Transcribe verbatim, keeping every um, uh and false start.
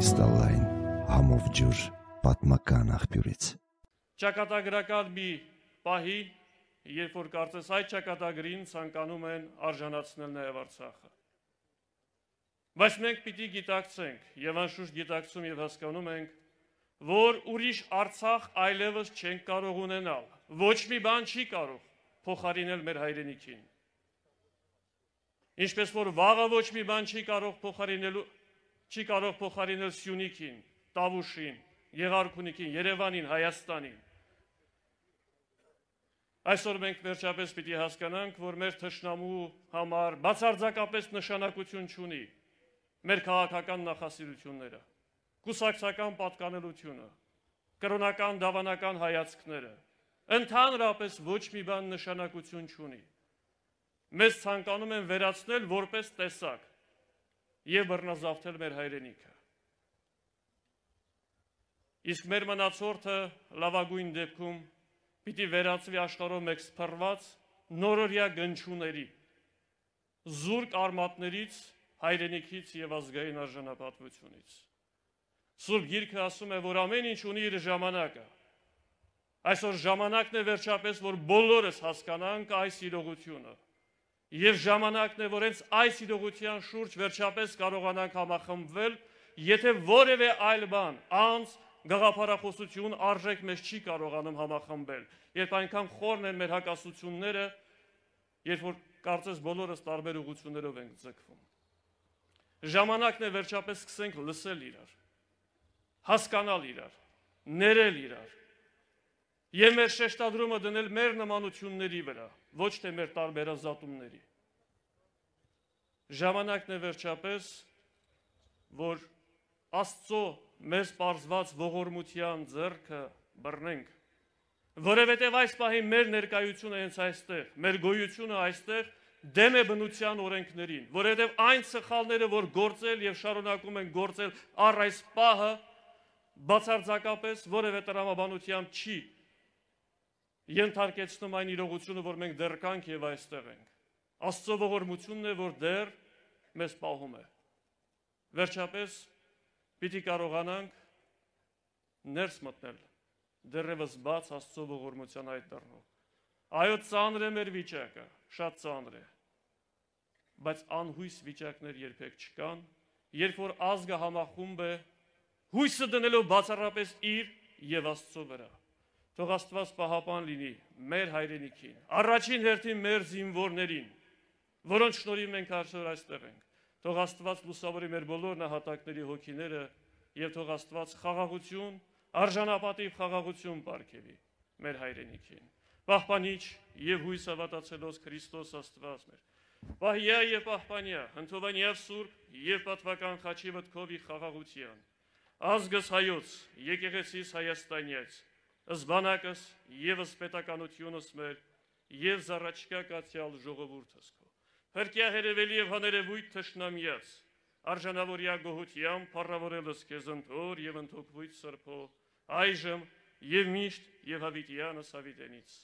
կրիստալային համով ջուր պատմական աղբյուրից։ Ճակատագրական մի պահի, երբ որ կարծես այդ ճակատագրին ցանկանում են արժանացնել նաև Արցախը։ Բայց մենք պիտի գիտակցենք եւ անշուշտ գիտակցում եւ հասկանում ենք, որ ուրիշ Արցախ այլևս չենք կարող ունենալ։ Ոչ մի բան չի կարող փոխարինել մեր հայրենիքին։ Ինչպես որ վաղը ոչ մի բան չի կարող փոխարինելու չի կարող փոխարինել Սյունիքին, Տավուշին, Եղարքունիքին, Երևանին, Հայաստանին։ Այսօր մենք վերջապես պիտի հասկանանք, որ մեր թշնամու համար բացարձակապես նշանակություն չունի մեր քաղաքական նախասիրությունները, կուսակցական պատկանելությունը, կրոնական դավանական հայացքները, ընդհանրապես ոչ մի բան նշանակություն չունի։ Մեզ ցանկանում են վերացնել որպես տեսակ եւ բռնազավթել մեր հայրենիքը։ Իսկ մեր մնացորդը լավագույն դեպքում պիտի վերածվի աշխարհով մեկ սփռված նորորյա գնչուների, զուրկ արմատներից, հայրենիքից եւ ազգային արժանապատվությունից։ Սուրբ Գիրքը ասում է, որ ամեն ինչ ունի իր ժամանակը։ Այսօր ժամանակն է վերջապես, որ բոլորս հասկանանք այս իրողությունը։ Եվ ժամանակն է, որ հենց այս իրողության շուրջ վերջապես կարողանանք համախմբվել, եթե որևէ այլ բան, անձ, գաղափարախոսություն, արժեք մեզ չի կարողանում համախմբել, երբ այնքան խորն են մեր հակասությունները, երբ որ կարծես բոլորս տարբեր ուղղություններով ենք ձգվում։ Ժամանակն է վերջապես սկսենք լսել իրար, հասկանալ իրար, ներել իրար եւ մեր շեշտադրումը դնել մեր նմանությունների վրա, ոչ թե մեր տարբերազատումների։ Ժամանակն է վերջապես, որ Աստծո մեզ պարզված ողորմության ձեռքը բռնենք, որովհետև այս պահին մեր ներկայությունը հենց այստեղ, մեր գոյությունը այստեղ դեմ է բնության օրենքներին, որովհետև այն սխալները, որ գործել եւ շարունակում են գործել առ այս պահը, բացարձակապես որևէ տրամաբանությամբ չի ենթարկեցնում այն իրողությունը, որ մենք դեռ կանք եւ այստեղ ենք։ Աստծո ողորմությունն է, որ դեռ մեզ պահում է։ Վերջապես պիտի կարողանանք ներս մտնել դեռևս բաց Աստծո ողորմության այդ դռնով։ Այո, ծանր է մեր վիճակը, շատ ծանր է, բայց անհույս վիճակներ երբեք չկան, երբ որ ազգը համախումբ է, հույսը դնելով բացառապես իր եւ Աստծո վրա։ Թող Աստված պահապան լինի մեր հայրենիքին, առաջին հերթին մեր զինվորներին, որոնց շնորհիվ մենք այսօր այստեղ ենք։ Թող Աստված լուսավորի մեր բոլոր նահատակների հոգիները եւ թող Աստված խաղաղություն, արժանապատիվ խաղաղություն պարգևի մեր հայրենիքին։ Պահպանիչ եւ հույս հավատացելոց Քրիստոս Աստված մեր։ Պահյա եւ պահպանյա, հնդովանյա Սուրբ եւ պատվական խաչի վտքովի խաղաղության։ Ազգս հայոց, եկեղեցիս Հայաստանյաց, զբանակս եւս պետականությունս մեր եւ զառաչկա կացյալ ժողովուրդս քո։ Հրկյա հերևելի եւ հաներևույթ թշնամիած, արժանավորյա գոհությամբ փառավորելս քեզ ընթոր եւ ընթոքվույթ սրբո, այժմ եւ միշտ եւ հավիտյանս հավիտենից։